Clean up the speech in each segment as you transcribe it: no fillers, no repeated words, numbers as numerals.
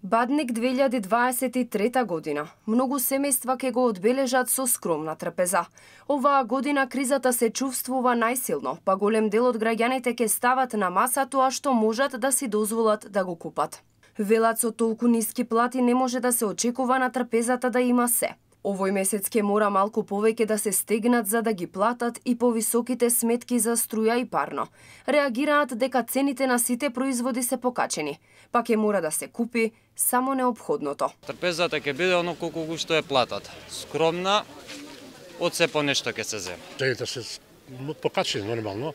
Бадник 2023 година. Многу семејства ќе го одбележат со скромна трпеза. Оваа година кризата се чувствува најсилно, па голем дел од граѓаните ќе стават на маса тоа што можат да си дозволат да го купат. Велат со толку ниски плати не може да се очекува на трпезата да има се. Овој месец ќе мора малку повеќе да се стегнат за да ги платат и повисоките сметки за струја и парно. Реагираат дека цените на сите производи се покачени, па ќе мора да се купи само неопходното. Трпезата ќе биде оно колку што е платата. Скромна, од се по нешто ќе се земе. Цените се покачени нормално,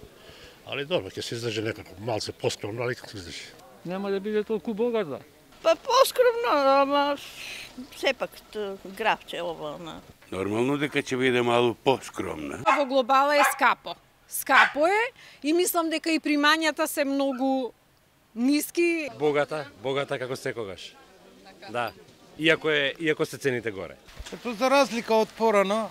али добро, ќе се издржи некако малце поскромно, али како се издржи. Нема да биде толку богата. Па поскромно, ама сепак графче ово. Нормално дека ќе биде малку поскромна. Во глобала е скапо. Скапо е и мислам дека и примањата се многу ниски. Богата како секогаш. Да. Иако се цените горе. Ето за разлика од порано,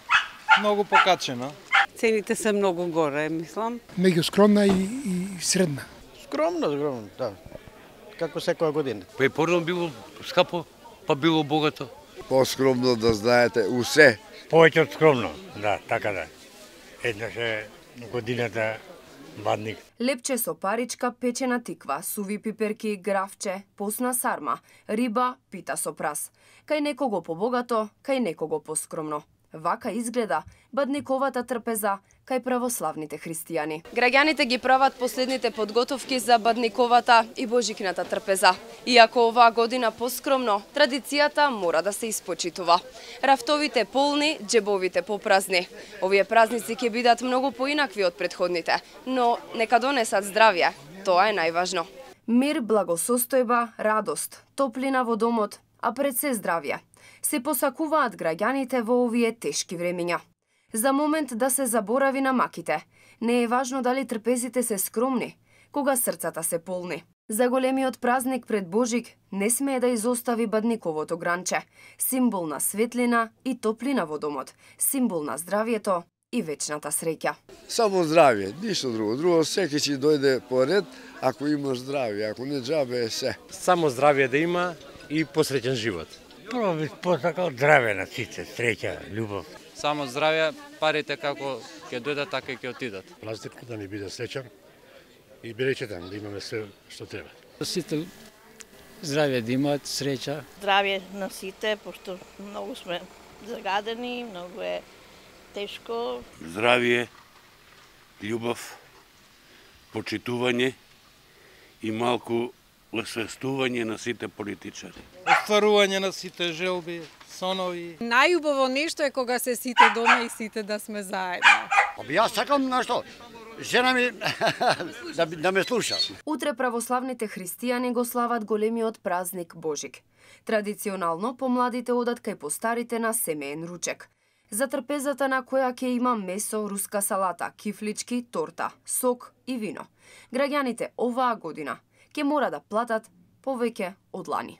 многу покачено. Цените се многу горе, мислам. Меѓу скромна и средна. Скромно, да. Како секоја година. Па и порано било скапо, па било богато. Поскромно да знаете усе. Повеќе од скромно, да, така да. Еднаш е годината бадник. Лепче со паричка, печена тиква, суви пиперки, графче, посна сарма, риба, пита со прас. Кај некого побогато, кај некого поскромно. Вака изгледа бадниковата трпеза кај православните христијани. Граѓаните ги прават последните подготовки за бадниковата и божикната трпеза. Иако оваа година поскромно, традицијата мора да се испочитува. Рафтовите полни, џебовите попразни. Овие празници ќе бидат многу поинакви од претходните, но нека донесат здравје, тоа е најважно. Мир, благосостојба, радост, топлина во домот, а пред се здравје. Се посакуваат граѓаните во овие тешки времиња. За момент да се заборави на маките. Не е важно дали трпезите се скромни, кога срцата се полни. За големиот празник пред Божик не смее да изостави бадниковото гранче, символ на светлина и топлина во домот, символ на здравјето и вечната среќа. Само здравје, ништо друго. Друго секој ќе дојде по ред ако имаш здравје, ако не џабе е се. Само здравје да има и посреќен живот. Прво би посакал здравје на сите, среќа, љубов. Само здравје, парите како ќе дојдат, така и ќе отидат. Празникот да ни биде среќан и беречетен, да имаме се што треба. Сите здравје да имаат, среќа. Здравје на сите, пошто многу сме загадени, многу е тешко. Здравје, љубов, почитување и малку освестување на сите политичари. Остварување на сите желби, сонови. Најубаво нешто е кога се сите дома и сите да сме заедно. Јас сакам нешто. Жена ми да ме слуша. Утре православните христијани го слават големиот празник Божик. Традиционално помладите одат кај постарите на семеен ручек. За трпезата на која ќе има месо, руска салата, кифлички, торта, сок и вино. Граѓаните оваа година ќе мора да платат повеќе од лани.